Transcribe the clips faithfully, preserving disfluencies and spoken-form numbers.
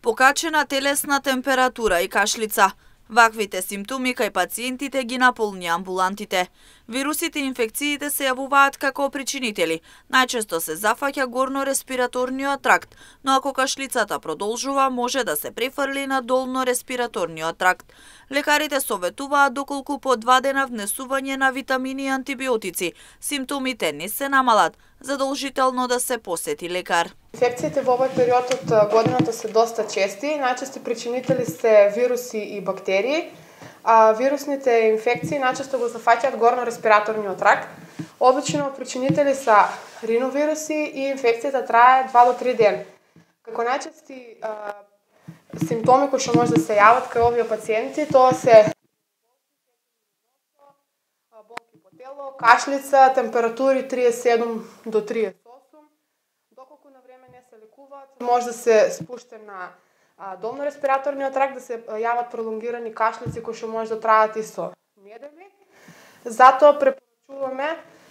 покачена телесна температура и кашлица. Ваквите симптоми кај пациентите ги наполни амбулантите. Вирусите и инфекциите се јавуваат како причинители. Најчесто се зафаќа горно-респираторниот тракт, но ако кашлицата продолжува, може да се префрли на долно-респираторниот тракт. Лекарите советуваат доколку по два дена внесување на витамини и антибиотици, симптомите не се намалат, задолжително да се посети лекар. Инфекциите во овој период од годината се доста чести. Најчести причинители се вируси и бактерии. А вирусните инфекции најчесто го зафаќаат горно-респираторниот тракт. Обично причинители се риновируси и инфекцијата трае два до три дена. Како најчести а, симптоми кои што може да се јават кај овие пациенти, тоа се болки по тело, кашлица, температури триесет и седум до триесет и осум. Доколку на време не се лекуваат, може да се спуште на долно-респираторниот тракт, да се јават пролонгирани кашлици кои што може да траат и со недели. Затоа препорачуваме,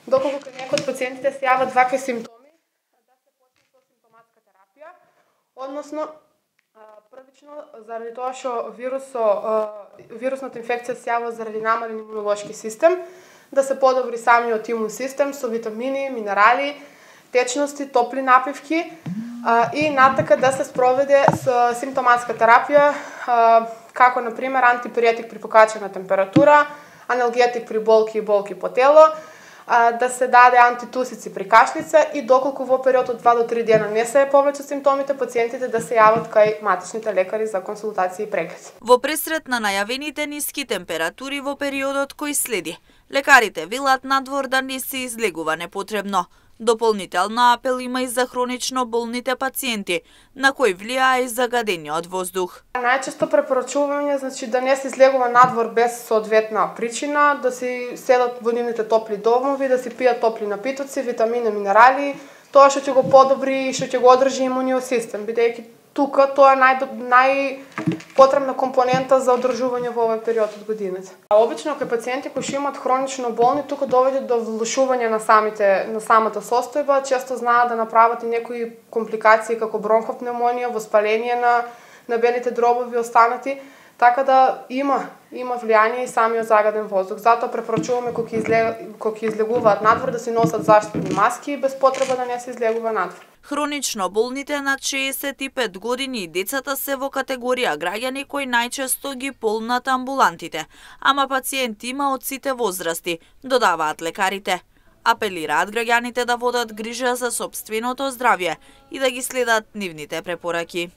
доколку кај некои од пациентите се јават вакви симптоми, да се почне со симптоматска терапија, односно првично заради тоа што вирусо, вирусната инфекција се јавува заради намален имунолошки систем, да се подобри самиот имун систем со витамини, минерали, течности, топли напивки и натака да се спроведе со симптоматска терапија, како на пример антипиретик при покачена температура, аналгетик при болки и болки по тело, да се даде антитусици при кашлица и доколку во период од два до три дена не се повлечат симптомите, пациентите да се јават кај матичните лекари за консултации и преглед. Во пресрет на најавените ниски температури во периодот кој следи, лекарите велат надвор да не се излегува непотребно. Дополнителна апел има и за хронично болните пациенти, на кои влијае и загадениот воздух. Најчесто препорачуваме, значи, да не се излегува надвор без соодветна причина, да си седат во нивните топли домови, да си пијат топли напитоци, витамини, минерали, тоа што ќе го подобри и што ќе го одржи имуниот систем, бидејќи тука тоа е нај, најпотребна компонента за одржување во овој период од годината. А обично кај пациенти кои што имаат хронично болни, тука доведе до влошување на самите на самата состојба, често знаат да направат и некои компликации како бронхопневмонија, воспаление на на белите дробови останати, така да има има влијание и самиот загаден воздух. Затоа препорачуваме кога ќе кога ќе излегуваат надвор да си носат заштитни маски без потреба да не се излегува надвор. Хронично болните над шеесет и пет години и децата се во категорија граѓани кои најчесто ги полнат амбулантите, ама пациенти има од сите возрасти, додаваат лекарите. Апелираат граѓаните да водат грижа за сопственото здравје и да ги следат нивните препораки.